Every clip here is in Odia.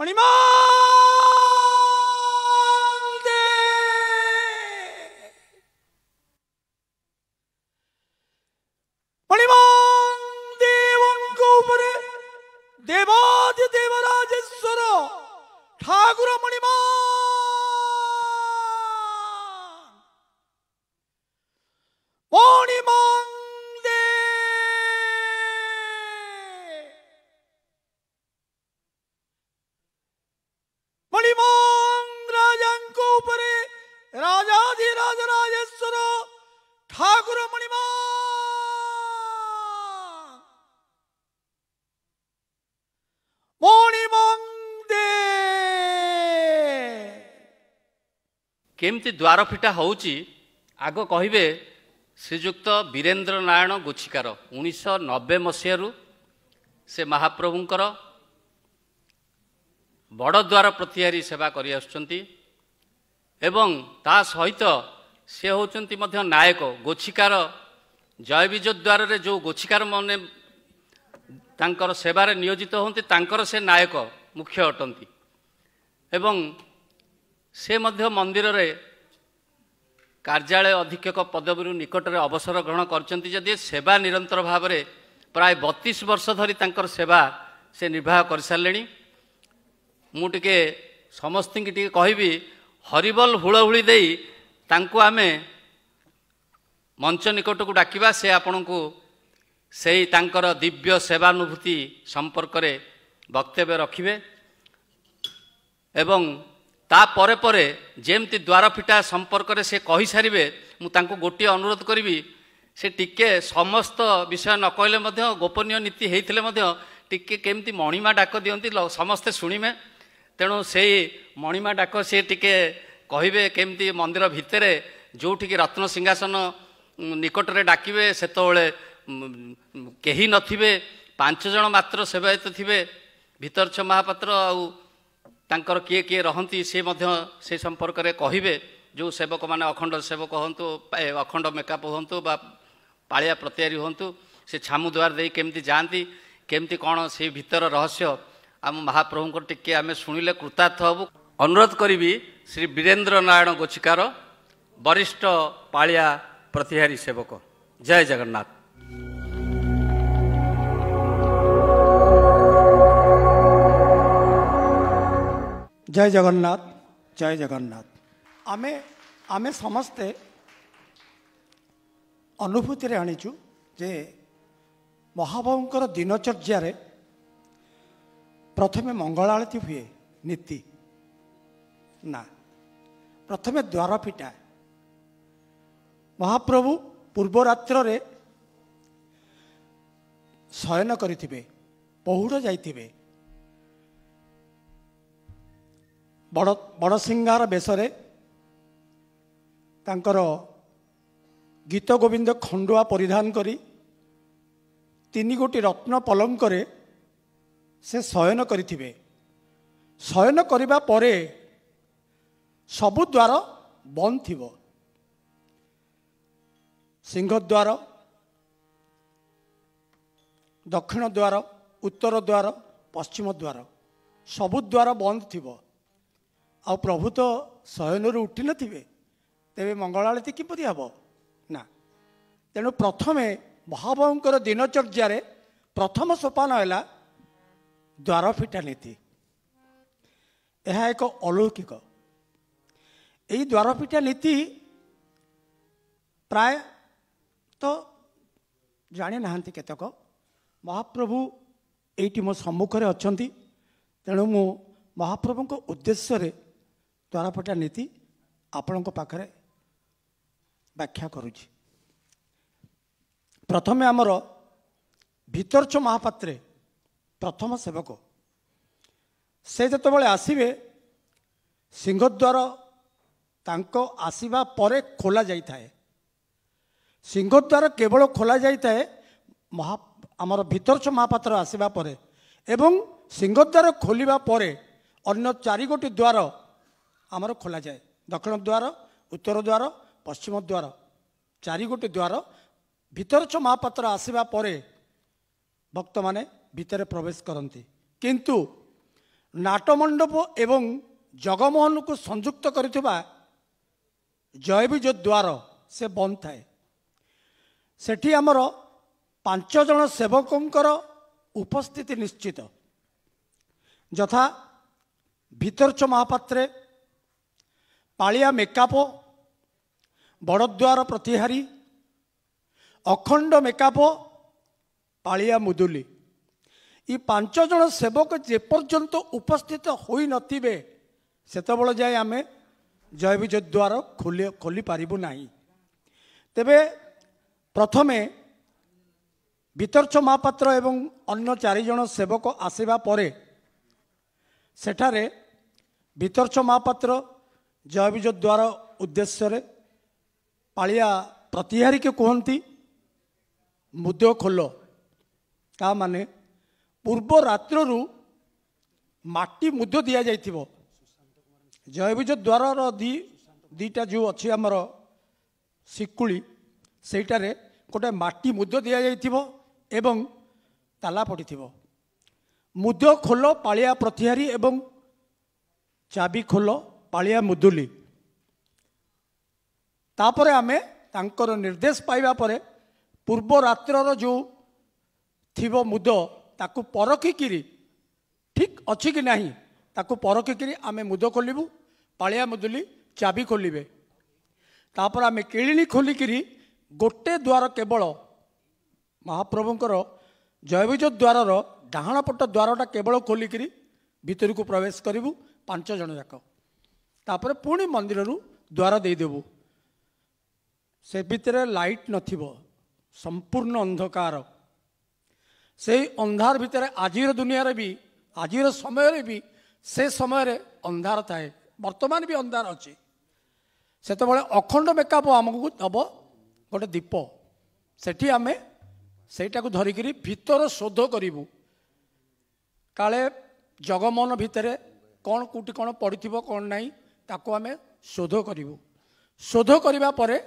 ମଣିମା ଦେ, ମଣିମା ଦେବଙ୍କ ଉପରେ ଦେବାଦି ଦେବରାଜେଶ୍ୱର ଠାକୁର ମଣିମା, ମଣିମା ଦେ। ମଣିମା ରାଜାଙ୍କ ଉପରେ ରାଜାଧି ରାଜରାଜେଶ୍ୱର ଠାକୁର ମଣିମା, ମଣିମା ଦେ। କେମିତି ଦ୍ୱାର ଫିଟା ହେଉଛି ଆଗ କହିବେ ଶ୍ରୀଯୁକ୍ତ ବୀରେନ୍ଦ୍ର ନାରାୟଣ ଗୋଛିକାର। 1990 ମସିହାରୁ ସେ ମହାପ୍ରଭୁଙ୍କର ବଡ଼ ଦ୍ୱାର ପ୍ରତିହାରୀ ସେବା କରିଆସୁଛନ୍ତି ଏବଂ ତା ସହିତ ସେ ହେଉଛନ୍ତି ମଧ୍ୟ ନାୟକ ଗୋଛିକାର। ଜୟବିଜୟ ଦ୍ୱାରରେ ଯେଉଁ ଗୋଛିକାର ମାନେ ତାଙ୍କର ସେବାରେ ନିୟୋଜିତ ହୁଅନ୍ତି, ତାଙ୍କର ସେ ନାୟକ ମୁଖ୍ୟ ଅଟନ୍ତି ଏବଂ ସେ ମଧ୍ୟ ମନ୍ଦିରରେ କାର୍ଯ୍ୟାଳୟ ଅଧୀକ୍ଷକ ପଦବୀରୁ ନିକଟରେ ଅବସର ଗ୍ରହଣ କରିଛନ୍ତି। ଯଦି ସେବା ନିରନ୍ତର ଭାବରେ ପ୍ରାୟ 32 ବର୍ଷ ଧରି ତାଙ୍କର ସେବା ସେ ନିର୍ବାହ କରିସାରିଲେଣି। ମୁଁ ଟିକେ ସମସ୍ତଙ୍କୁ ଟିକେ କହିବି, ହରିବଲ ହୁଳହୁଳି ଦେଇ ତାଙ୍କୁ ଆମେ ମଞ୍ଚ ନିକଟକୁ ଡାକିବା। ସେ ଆପଣଙ୍କୁ ସେଇ ତାଙ୍କର ଦିବ୍ୟ ସେବାନୁଭୂତି ସମ୍ପର୍କରେ ବକ୍ତବ୍ୟ ରଖିବେ ଏବଂ ତାପରେ ପରେ ଯେମିତି ଦ୍ୱାର ଫିଟା ସମ୍ପର୍କରେ ସେ କହିସାରିବେ, ମୁଁ ତାଙ୍କୁ ଗୋଟିଏ ଅନୁରୋଧ କରିବି, ସେ ଟିକେ ସମସ୍ତ ବିଷୟ ନ କହିଲେ ମଧ୍ୟ, ଗୋପନୀୟ ନୀତି ହେଇଥିଲେ ମଧ୍ୟ, ଟିକେ କେମିତି ମଣିମା ଡାକ ଦିଅନ୍ତି ସମସ୍ତେ ଶୁଣିବେ। ତେଣୁ ସେଇ ମଣିମା ଡାକ ସେ ଟିକେ କହିବେ, କେମିତି ମନ୍ଦିର ଭିତରେ ଯେଉଁଠିକି ରତ୍ନ ସିଂହାସନ ନିକଟରେ ଡାକିବେ, ସେତେବେଳେ କେହି ନଥିବେ, 5 ଜଣ ମାତ୍ର ସେବାୟତ ଥିବେ, ଭିତରଛ ମହାପାତ୍ର ଆଉ ତାଙ୍କର କିଏ କିଏ ରହନ୍ତି ସେ ମଧ୍ୟ ସେ ସମ୍ପର୍କରେ କହିବେ। ଯେଉଁ ସେବକମାନେ ଅଖଣ୍ଡ ସେବକ ହୁଅନ୍ତୁ, ଅଖଣ୍ଡ ମେକାପ ହୁଅନ୍ତୁ ବା ପାଳିଆ ପ୍ରତିହାରୀ ହୁଅନ୍ତୁ, ସେ ଛାମୁ ଦ୍ୱାର ଦେଇ କେମିତି ଯାଆନ୍ତି, କେମିତି କ'ଣ ସେଇ ଭିତର ରହସ୍ୟ ଆମ ମହାପ୍ରଭୁଙ୍କର ଟିକେ ଆମେ ଶୁଣିଲେ କୃତାର୍ଥ ହେବୁ। ଅନୁରୋଧ କରିବି ଶ୍ରୀ ବୀରେନ୍ଦ୍ର ନାରାୟଣ ଗୋଛିକାର, ବରିଷ୍ଠ ପାଳିଆ ପ୍ରତିହାରୀ ସେବକ। ଜୟ ଜଗନ୍ନାଥ। ଜୟ ଜଗନ୍ନାଥ, ଜୟ ଜଗନ୍ନାଥ। ଆମେ ସମସ୍ତେ ଅନୁଭୂତିରେ ଆଣିଛୁ ଯେ ମହାପ୍ରଭୁଙ୍କର ଦିନଚର୍ଯ୍ୟାରେ ପ୍ରଥମେ ମଙ୍ଗଳ ଆଳତୀ ହୁଏ ନୀତି ନା, ପ୍ରଥମେ ଦ୍ୱାର ଫିଟା। ମହାପ୍ରଭୁ ପୂର୍ବ ରାତ୍ରରେ ଶୟନ କରିଥିବେ, ପହୁଡ଼ ଯାଇଥିବେ, ବଡ଼ ବଡ଼ ସିଂହାର ବେଶରେ ତାଙ୍କର ଗୀତ ଗୋବିନ୍ଦ ଖଣ୍ଡୁଆ ପରିଧାନ କରି 3 ଗୋଟି ରତ୍ନ ପଲଙ୍କରେ ସେ ଶୟନ କରିଥିବେ। ଶୟନ କରିବା ପରେ ସବୁ ଦ୍ୱାର ବନ୍ଦ ଥିବ, ସିଂହଦ୍ୱାର, ଦକ୍ଷିଣ ଦ୍ୱାର, ଉତ୍ତର ଦ୍ୱାର, ପଶ୍ଚିମ ଦ୍ୱାର, ସବୁ ଦ୍ୱାର ବନ୍ଦ ଥିବ। ଆଉ ପ୍ରଭୁ ତ ଶୟନରୁ ଉଠି ନଥିବେ, ତେବେ ମଙ୍ଗଳ ଆଳତୀ କିପରି ହେବ ନା? ତେଣୁ ପ୍ରଥମେ ମହାପ୍ରଭୁଙ୍କର ଦିନଚର୍ଯ୍ୟାରେ ପ୍ରଥମ ସୋପାନ ହେଲା ଦ୍ୱାର ଫିଟା ନୀତି। ଏହା ଏକ ଅଲୌକିକ। ଏଇ ଦ୍ୱାର ଫିଟା ନୀତି ପ୍ରାୟ ତ ଜାଣିନାହାନ୍ତି କେତେକ। ମହାପ୍ରଭୁ ଏଇଠି ମୋ ସମ୍ମୁଖରେ ଅଛନ୍ତି, ତେଣୁ ମୁଁ ମହାପ୍ରଭୁଙ୍କ ଉଦ୍ଦେଶ୍ୟରେ ଦ୍ୱାରଫିଟା ନୀତି ଆପଣଙ୍କ ପାଖରେ ବ୍ୟାଖ୍ୟା କରୁଛି। ପ୍ରଥମେ ଆମର ଭିତରଛ ମହାପାତ୍ରେ ପ୍ରଥମ ସେବକ, ସେ ଯେତେବେଳେ ଆସିବେ ସିଂହଦ୍ୱାର ତାଙ୍କ ଆସିବା ପରେ ଖୋଲା ଯାଇଥାଏ। ସିଂହଦ୍ୱାର କେବଳ ଖୋଲା ଯାଇଥାଏ ଆମର ଭିତରଛ ମହାପାତ୍ର ଆସିବା ପରେ, ଏବଂ ସିଂହଦ୍ୱାର ଖୋଲିବା ପରେ ଅନ୍ୟ 4 ଗୋଟି ଦ୍ୱାର ଆମର ଖୋଲାଯାଏ। ଦକ୍ଷିଣ ଦ୍ୱାର, ଉତ୍ତର ଦ୍ୱାର, ପଶ୍ଚିମ ଦ୍ୱାର, 4 ଗୋଟି ଦ୍ୱାର ଭିତରଛ ମହାପାତ୍ର ଆସିବା ପରେ ଭକ୍ତମାନେ ଭିତରେ ପ୍ରବେଶ କରନ୍ତି। କିନ୍ତୁ ନାଟମଣ୍ଡପ ଏବଂ ଜଗମୋହନକୁ ସଂଯୁକ୍ତ କରୁଥିବା ଜୟବିଜୟ ଦ୍ୱାର ସେ ବନ୍ଦ ଥାଏ। ସେଠି ଆମର 5 ଜଣ ସେବକଙ୍କର ଉପସ୍ଥିତି ନିଶ୍ଚିତ, ଯଥା ଭିତରଚ୍ଛ ମହାପାତ୍ରେ, ପାଳିଆ ମେକାପ, ବଡ଼ଦ୍ୱାର ପ୍ରତିହାରୀ, ଅଖଣ୍ଡ ମେକାପ, ପାଳିଆ ମୁଦୁଲି। ଏ 5 ଜଣ ସେବକ ଯେପର୍ଯ୍ୟନ୍ତ ଉପସ୍ଥିତ ହୋଇନଥିବେ ସେତେବେଳେ ଯାଏ ଆମେ ଜୟବିଜୟ ଦ୍ୱାର ଖୋଲି ପାରିବୁ ନାହିଁ। ତେବେ ପ୍ରଥମେ ଭିତରଚ୍ଛ ମହାପାତ୍ର ଏବଂ ଅନ୍ୟ 4 ଜଣ ସେବକ ଆସିବା ପରେ ସେଠାରେ ଭିତରଚ୍ଛ ମହାପାତ୍ର ଜୟବିଜୟ ଦ୍ୱାର ଉଦ୍ଦେଶ୍ୟରେ ପାଳିଆ ପ୍ରତିହାରୀକି କୁହନ୍ତି ମୁଦ ଖୋଲ। ତା ମାନେ ପୂର୍ବ ରାତ୍ରରୁ ମାଟି ମୁଦ ଦିଆଯାଇଥିବ। ଜୟବିଜୟ ଦ୍ୱାରର ଦୁଇଟା ଯେଉଁ ଅଛି ଆମର ଶିକୁଳି, ସେଇଟାରେ ଗୋଟେ ମାଟି ମୁଦ ଦିଆଯାଇଥିବ ଏବଂ ତାଲା ପଡ଼ିଥିବ। ମୁଦ ଖୋଲ ପାଳିଆ ପ୍ରତିହାରୀ ଏବଂ ଚାବି ଖୋଲ ପାଳିଆ ମୁଦୁଲି। ତାପରେ ଆମେ ତାଙ୍କର ନିର୍ଦ୍ଦେଶ ପାଇବା ପରେ ପୂର୍ବ ରାତ୍ରର ଯେଉଁ ଥିବ ମୁଦ ତାକୁ ପରଖିକିରି ଠିକ୍ ଅଛି କି ନାହିଁ ତାକୁ ପରଖିକିରି ଆମେ ମୁଦ ଖୋଲିବୁ, ପାଳିଆ ମୁଦୁଲି ଚାବି ଖୋଲିବେ। ତାପରେ ଆମେ କିଳିଣୀ ଖୋଲିକିରି ଗୋଟେ ଦ୍ୱାର କେବଳ ମହାପ୍ରଭୁଙ୍କର ଜୟବିଜୟ ଦ୍ୱାରର ଡାହାଣ ପଟ ଦ୍ୱାରଟା କେବଳ ଖୋଲିକିରି ଭିତରକୁ ପ୍ରବେଶ କରିବୁ 5 ଜଣ ଯାକ। ତାପରେ ପୁଣି ମନ୍ଦିରରୁ ଦ୍ୱାର ଦେଇଦେବୁ। ସେ ଭିତରେ ଲାଇଟ୍ ନଥିବ, ସମ୍ପୂର୍ଣ୍ଣ ଅନ୍ଧକାର। ସେଇ ଅନ୍ଧାର ଭିତରେ ଆଜିର ଦୁନିଆରେ ବି, ଆଜିର ସମୟରେ ବି ସେ ସମୟରେ ଅନ୍ଧାର ଥାଏ, ବର୍ତ୍ତମାନ ବି ଅନ୍ଧାର ଅଛି। ସେତେବେଳେ ଅଖଣ୍ଡ ମେକାପ ଆମକୁ ଦେବ ଗୋଟେ ଦୀପ, ସେଠି ଆମେ ସେଇଟାକୁ ଧରିକିରି ଭିତର ଶୋଧ କରିବୁ, କାଳେ ଜଗମୋହନ ଭିତରେ କ'ଣ କେଉଁଠି କ'ଣ ପଡ଼ିଥିବ କ'ଣ ନାହିଁ ତାକୁ ଆମେ ଶୋଧ କରିବୁ। ଶୋଧ କରିବା ପରେ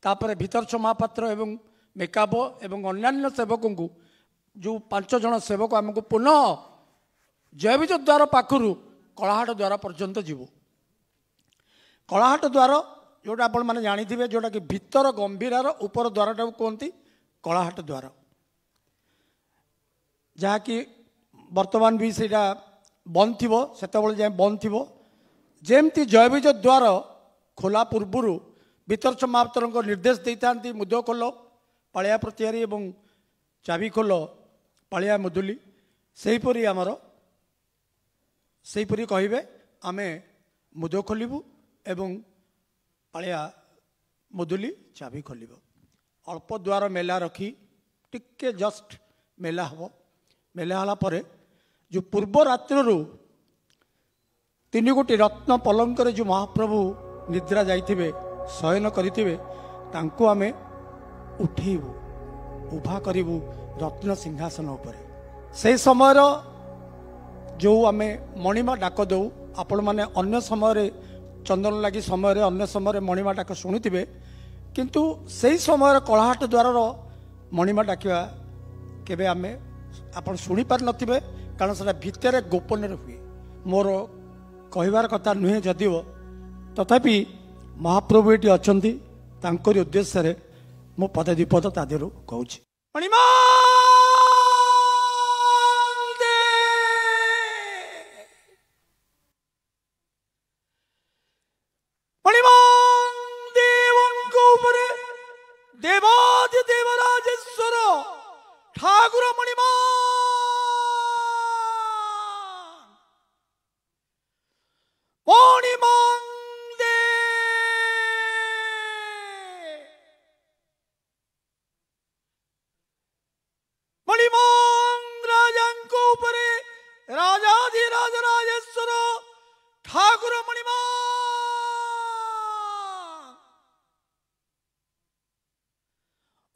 ତାପରେ ଭିତରଚ୍ଛ ମହାପାତ୍ର ଏବଂ ମେକାପ ଏବଂ ଅନ୍ୟାନ୍ୟ ସେବକଙ୍କୁ ଯେଉଁ 5 ଜଣ ସେବକ ଆମକୁ ପୁନଃ ଜୟବିଜୟ ଦ୍ୱାର ପାଖରୁ କଳାହାଟ ଦ୍ୱାର ପର୍ଯ୍ୟନ୍ତ ଯିବୁ। କଳାହାଟ ଦ୍ୱାର ଯେଉଁଟା ଆପଣମାନେ ଜାଣିଥିବେ, ଯେଉଁଟାକି ଭିତର ଗମ୍ଭୀରାର ଉପର ଦ୍ୱାରଟାକୁ କୁହନ୍ତି କଳାହାଟ ଦ୍ୱାର, ଯାହାକି ବର୍ତ୍ତମାନ ବି ସେଇଟା ବନ୍ଦ ଥିବ, ସେତେବେଳେ ଯାଏଁ ବନ୍ଦ ଥିବ। ଯେମିତି ଜୟବିଜୟ ଦ୍ୱାର ଖୋଲା ପୂର୍ବରୁ ଭିତରଚ୍ଛ ମହାପାତ୍ରଙ୍କ ନିର୍ଦ୍ଦେଶ ଦେଇଥାନ୍ତି ମୁଦ ଖୋଲ ପାଳିଆ ପ୍ରତିହାରୀ ଏବଂ ଚାବି ଖୋଲ ପାଳିଆ ମୁଦୁଲି, ସେହିପରି ଆମର ସେହିପରି କହିବେ ଆମେ ମୁଦ ଖୋଲିବୁ ଏବଂ ପାଳିଆ ମୁଦୁଲି ଚାବି ଖୋଲିବ। ଅଳ୍ପ ଦ୍ୱାର ମେଲା ରଖି ଟିକେ ଜଷ୍ଟ ମେଲା ହେବ। ମେଲା ହେଲା ପରେ ଯେଉଁ ପୂର୍ବ ରାତ୍ରରୁ 3 ଗୋଟି ରତ୍ନ ପଲଙ୍କରେ ଯେଉଁ ମହାପ୍ରଭୁ ନିଦ୍ରା ଯାଇଥିବେ, ଶୟନ କରିଥିବେ, ତାଙ୍କୁ ଆମେ ଉଠେଇବୁ, ଉଭା କରିବୁ ରତ୍ନ ସିଂହାସନ ଉପରେ। ସେହି ସମୟର ଯେଉଁ ଆମେ ମଣିମା ଡାକ ଦେଉ, ଆପଣମାନେ ଅନ୍ୟ ସମୟରେ ଚନ୍ଦନ ଲାଗି ସମୟରେ ଅନ୍ୟ ସମୟରେ ମଣିମା ଡାକ ଶୁଣିଥିବେ, କିନ୍ତୁ ସେହି ସମୟରେ କଳାହାଟ ଦ୍ୱାରର ମଣିମା ଡାକିବା କେବେ ଆମେ ଆପଣ ଶୁଣିପାରିନଥିବେ, କାରଣ ସେଟା ଭିତରେ ଗୋପନରେ ହୁଏ। ମୋର କହିବାର କଥା ନୁହେଁ ଯଦିଓ, ତଥାପି ମହାପ୍ରଭୁ ଏଠି ଅଛନ୍ତି, ତାଙ୍କରି ଉଦ୍ଦେଶ୍ୟରେ ମୁଁ ପଦେ ଦୁଇ ପଦ ତା ଦେହରୁ କହୁଛି। ମଣିମା ଦେବଙ୍କ ଉପରେ ଦେବାଦି ଦେବରାଜେଶ୍ୱର ଠାକୁର ମଣିମା ମଣିମା ଦେ। ମଣିମା ରାଜାଙ୍କ ଉପରେ ରାଜାଧିରାଜ ରାଜେଶ୍ୱର ଠାକୁର ମଣିମା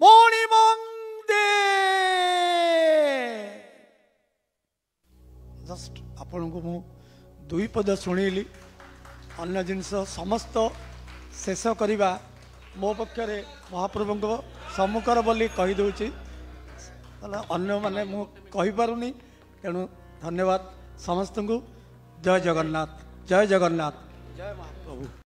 ମଣିମା ଦେ। ଜଷ୍ଟ ଆପଣଙ୍କୁ ମୁଁ ଦୁଇ ପଦ ଶୁଣେଇଲି, ଅନ୍ୟ ଜିନିଷ ସମସ୍ତ ଶେଷ କରିବା ମୋ ପକ୍ଷରେ ମହାପ୍ରଭୁଙ୍କ ସମ୍ମୁଖର ବୋଲି କହିଦେଉଛି, ତାହେଲେ ଅନ୍ୟମାନେ ମୁଁ କହିପାରୁନି। ତେଣୁ ଧନ୍ୟବାଦ ସମସ୍ତଙ୍କୁ। ଜୟ ଜଗନ୍ନାଥ, ଜୟ ଜଗନ୍ନାଥ, ଜୟ ମହାପ୍ରଭୁ।